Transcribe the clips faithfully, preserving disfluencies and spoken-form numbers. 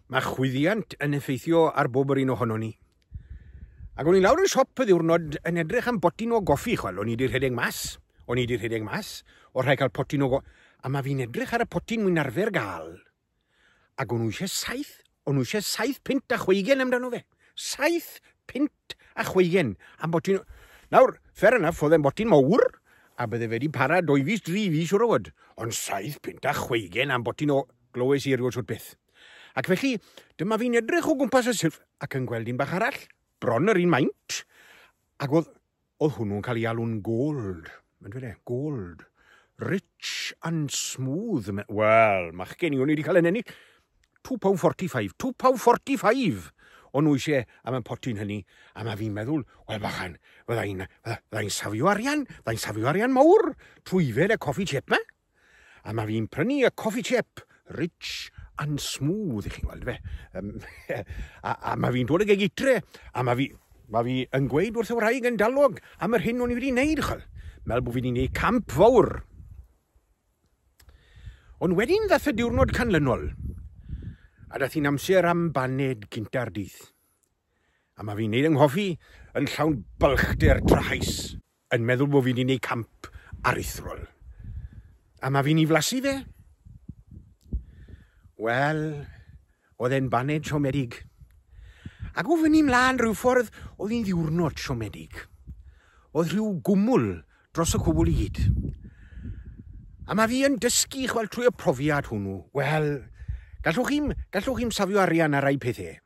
Mae chwyddiant yn effeithio ar bob yr un ohonon ni. Ac o'n i lawr yn siop y ddiwrnod yn edrych am botyn o goffi, chwel. O'n i 'di rhedeg mas. O'n i 'di rhedeg mas. O rhaid cael potyn o goffi. A mae fi'n edrych ar y potyn wy'n arfer gael. Ac o'n nhw eisiau saith, o'n nhw eisiau saith punt a chweigen amdano fe. Saith punt a chweigen am botyn. Nawr, fair enough, oedd e'n botyn mawr, a bydde fe wedi para dwy fis, dri fis, siŵr o fod. Ond saith punt a chweigen am botyn o glywes i erioed shwt beth. Ac felly, dyma fi'n edrych o gwmpas y silff ac yn gweld un bach arall, bron yr un maint, ac oedd, oedd hwnnw'n cael ei alw'n gold. Mae'n dweud e, gold. Rich and smooth. Wel, machgen i, o'n i wedi cael yn ennill. two pound forty-five. two pound forty-five! O'n nhw eisiau am y potyn hynny. A mae fi'n meddwl, wel bachan, fydda i'n fydda i'n safio arian, fydda i'n safio arian mawr trwy yfed y coffi chip 'ma. A mae fi'n prynu y coffi chip, rich and smooth, i chi'n gweld fe. Um, a, a mae fi'n dod ag e gytre, a mae fi, mae fi yn gweud wrth y wraig yn dalog am yr hyn o'n i wedi wneud, chwel. Mel bod fi wedi wneud camp fawr. Ond wedyn ddath y diwrnod canlynol, a dath hi'n amser am baned cynta'r dydd. A mae fi'n neud yng nghoffi yn llawn balchder trahaus, yn meddwl bod fi wedi wneud camp aruthrol. A mae fi'n ei flasu fe. Wel, oedd e'n baned siomedig. Ac o fyny mlaen rhyw ffordd, oedd hi'n ddiwrnod siomedig. Oedd rhyw gwmwl dros y cwbl i gyd. A mae fi yn dysgu, chwel, trwy y profiad hwnnw. Wel, gallwch chi'm, gallwch chi'm safio arian ar rai pethau.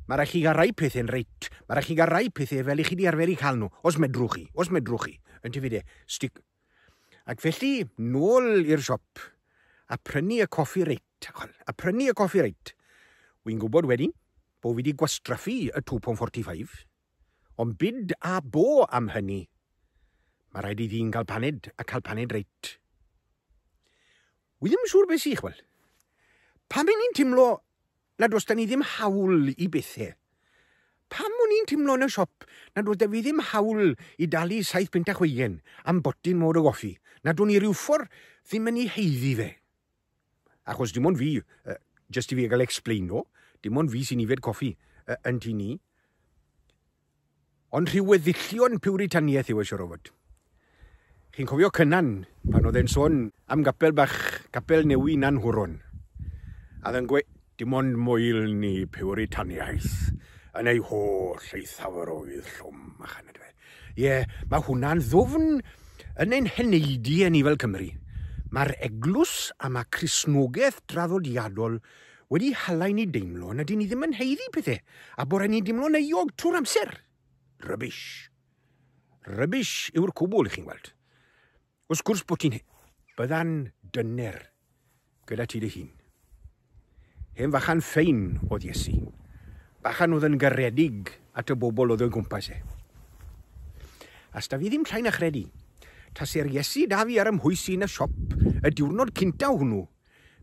Mae rhaid chi gael rai pethau'n reit. Mae rhaid chi gael rai pethau fel i chi di arfer i cael nhw. Os medrwch chi, os medrwch chi. Yn ti de, stick. Ac felly, nôl i'r siop a prynu y coffi reit. A prynu y coffi reit. Wy'n gwybod wedyn bod fi wedi gwastraffu y two pound forty-five. Ond bid a bo am hynny. Mae rhaid i ddyn gael paned a cael paned reit. Wi ddim yn siŵr beth sy'n, chwel. Pam i ni'n timlo nad oes da ni ddim hawl i bethau? Pam o'n i'n timlo yn y siop nad oes da fi ddim hawl i dalu saith punt a chweigen am botyn mawr o goffi? Nad o'n i ryw ffordd ddim yn ei haeddu fe? Achos dim ond fi, uh, just i fi gael explain o, dim ond fi sy'n yfed coffi uh, yn tŷ ni. Ond rhyw weddillion Piwritaniaeth yw e siwr o fod. Chi'n cofio Cynan pan oedd e'n sôn am gapel bach, Capel Newi Nanhwron. A oedd e'n gweud, dim ond moel ni Piwritaniaeth yn ei holl eithafarwydd llwm. Ie, yeah, mae hwnna'n ddwfn yn ein heneidiau ni fel Cymru. Mae'r eglwys a mae Cristnogaeth draddodiadol wedi hala i ni deimlo nad ni ddim yn haeddu pethau a bod rhaid ni deimlo'n euog trwy'r amser. Rubbish. Rubbish yw'r cwbl, i chi'n gweld. Wrth gwrs bod ti'n... Bydda'n dyner gyda ti dy hun. Hen fachan ffein oedd Iesu. Bachan oedd yn garedig at y bobl oedd o'i gwmpas e. A 'sda fi ddim llai na chredu, tase'r Iesu da fi ar 'y mhwys i yn y siop y diwrnod cynta hwnnw,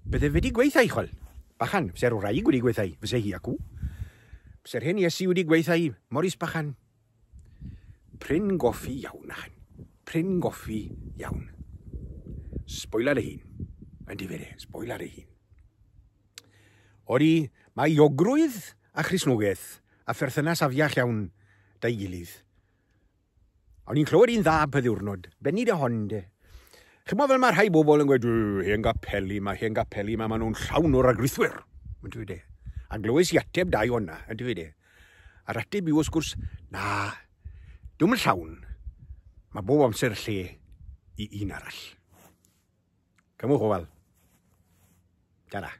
bydde fe wedi gweithio i, chwel. Bachan, fyse'r wraig wedi gweithio i, fyse hi acw. Fyse'r hen Iesu wedi gweithio i, Morris bachan. Prin goffi iawn, achan. Prin goffi iawn. Sboila dy hun. Yn difyr, sboila dy hun. Odi, mae euogrwydd a Christnogaeth a pherthynas afiach iawn da'i gilydd. O'n i'n clywed un dda pa ddiwrnod, benni dy hon de. Chymod fel mae rhai bobl yn gweud, "Hen gapeli ma, hen gapeli ma, maen nhw'n llawn o ragrithwyr." Yn dweud e. A glywes i ateb dau o'na, yn dweud e. A'r ateb yw, wrth gwrs, na, dwi'm yn llawn. Mae bob amser lle i un arall. Cymwch ofal. Ta-ra.